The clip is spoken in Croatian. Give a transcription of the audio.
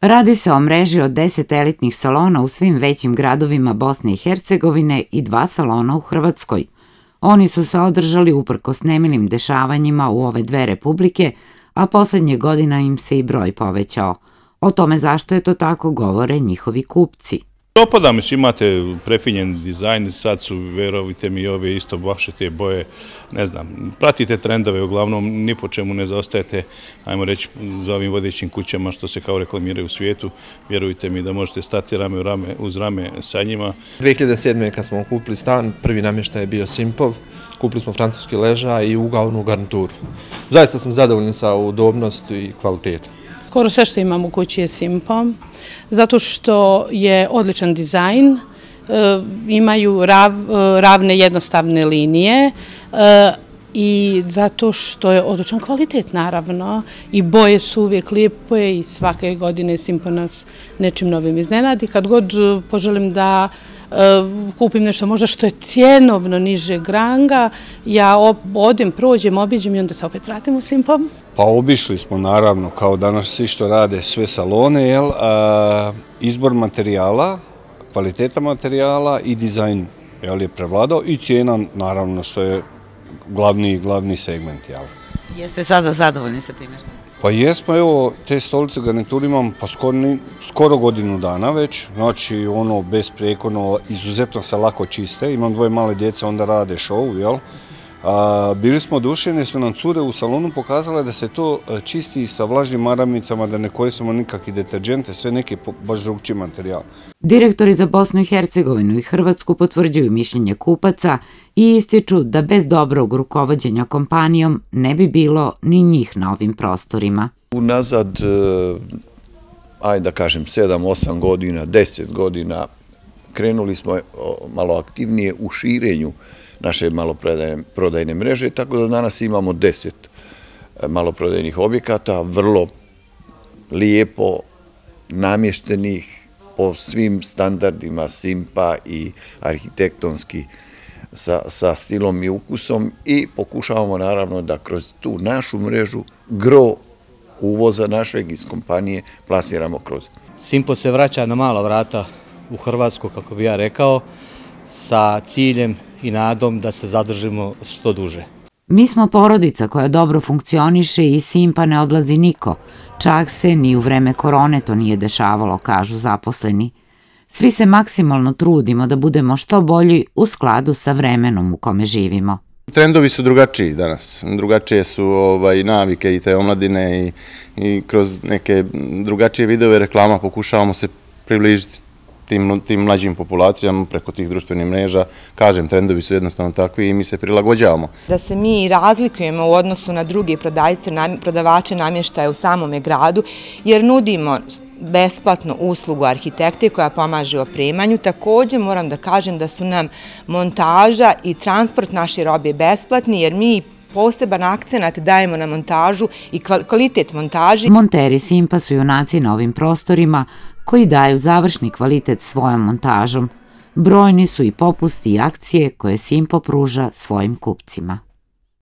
Radi se o mreži od 10 elitnih salona u svim većim gradovima Bosne i Hercegovine i 2 salona u Hrvatskoj. Oni su se održali uprkos nemilim dešavanjima u ove dve republike, a poslednje godina im se i broj povećao. O tome zašto je to tako govore njihovi kupci. Dopada mi se, imate prefinjen dizajn, sad su, verovite mi, ove isto vaše te boje, ne znam, pratite trendove, uglavnom ni po čemu ne zaostajete, ajmo reći, za ovim vodećim kućama što se kao reklamiraju u svijetu, vjerujte mi da možete stati rame uz rame sa njima. 2007. kad smo kupili stan, prvi namještaj je bio Simpov, kupili smo francuski ležaj i ugaonu garnituru. Zaista smo zadovoljni sa udobnosti i kvalitetom. Skoro sve što imam u kući je Simpov, zato što je odličan dizajn, imaju ravne jednostavne linije i zato što je odličan kvalitet, naravno, i boje su uvijek lijepe i svake godine Simpov nas nečim novim iznenadi. Kad god poželim da kupim nešto možda što je cjenovno nižeg ranga, ja odem, prođem, obiđem i onda se opet vratim u Simpov. Pa obišli smo, naravno, kao danas svi što rade sve salone, izbor materijala, kvaliteta materijala i dizajn je prevladao i cijena, naravno, što je glavni segment. Jeste sada zadovoljni sa time što? Pa jesmo, evo, te stolice garniture imam pa skoro godinu dana već, znači besprijekorno, izuzetno se lako čiste, imam 2 male djece, onda rade show, jel? Bili smo oduševljeni jer su nam cure u salonu pokazale da se to čisti sa vlažnim maramicama, da ne koristimo nikakve deterđente, sve neki baš drugčiji materijal. Direktori za Bosnu i Hercegovinu i Hrvatsku potvrđuju mišljenje kupaca i ističu da bez dobrog rukovođenja kompanijom ne bi bilo ni njih na ovim prostorima. Unazad, ajde da kažem, 7-8 godina, 10 godina, krenuli smo malo aktivnije u širenju naše maloprodajne mreže, tako da danas imamo 10 maloprodajnih objekata, vrlo lijepo namještenih po svim standardima Simpa i arhitektonski sa stilom i ukusom i pokušavamo naravno da kroz tu našu mrežu gro uvoza našeg iz kompanije plasiramo kroz. Simpo se vraća na mala vrata u Hrvatsku, kako bi ja rekao, sa ciljem i nadom da se zadržimo što duže. Mi smo porodica koja dobro funkcioniše i Simpa ne odlazi niko. Čak se ni u vreme korone to nije dešavalo, kažu zaposleni. Svi se maksimalno trudimo da budemo što bolji u skladu sa vremenom u kome živimo. Trendovi su drugačiji danas. Drugačije su navike i te omladine i kroz neke drugačije vidove reklama pokušavamo se približiti tim mlađim populacijama preko tih društvenih mreža. Kažem, trendovi su jednostavno takvi i mi se prilagođavamo. Da se mi razlikujemo u odnosu na druge prodavače namještaja u samome gradu, jer nudimo besplatnu uslugu arhitekte koja pomaže u opremanju. Također moram da kažem da su nam montaža i transport naše robe besplatni, jer mi poseban akcenat dajemo na montažu i kvalitet montaži. Monteri Simpa su junaci na ovim prostorima koji daju završni kvalitet svojom montažom. Brojni su i popusti i akcije koje Simpo pruža svojim kupcima.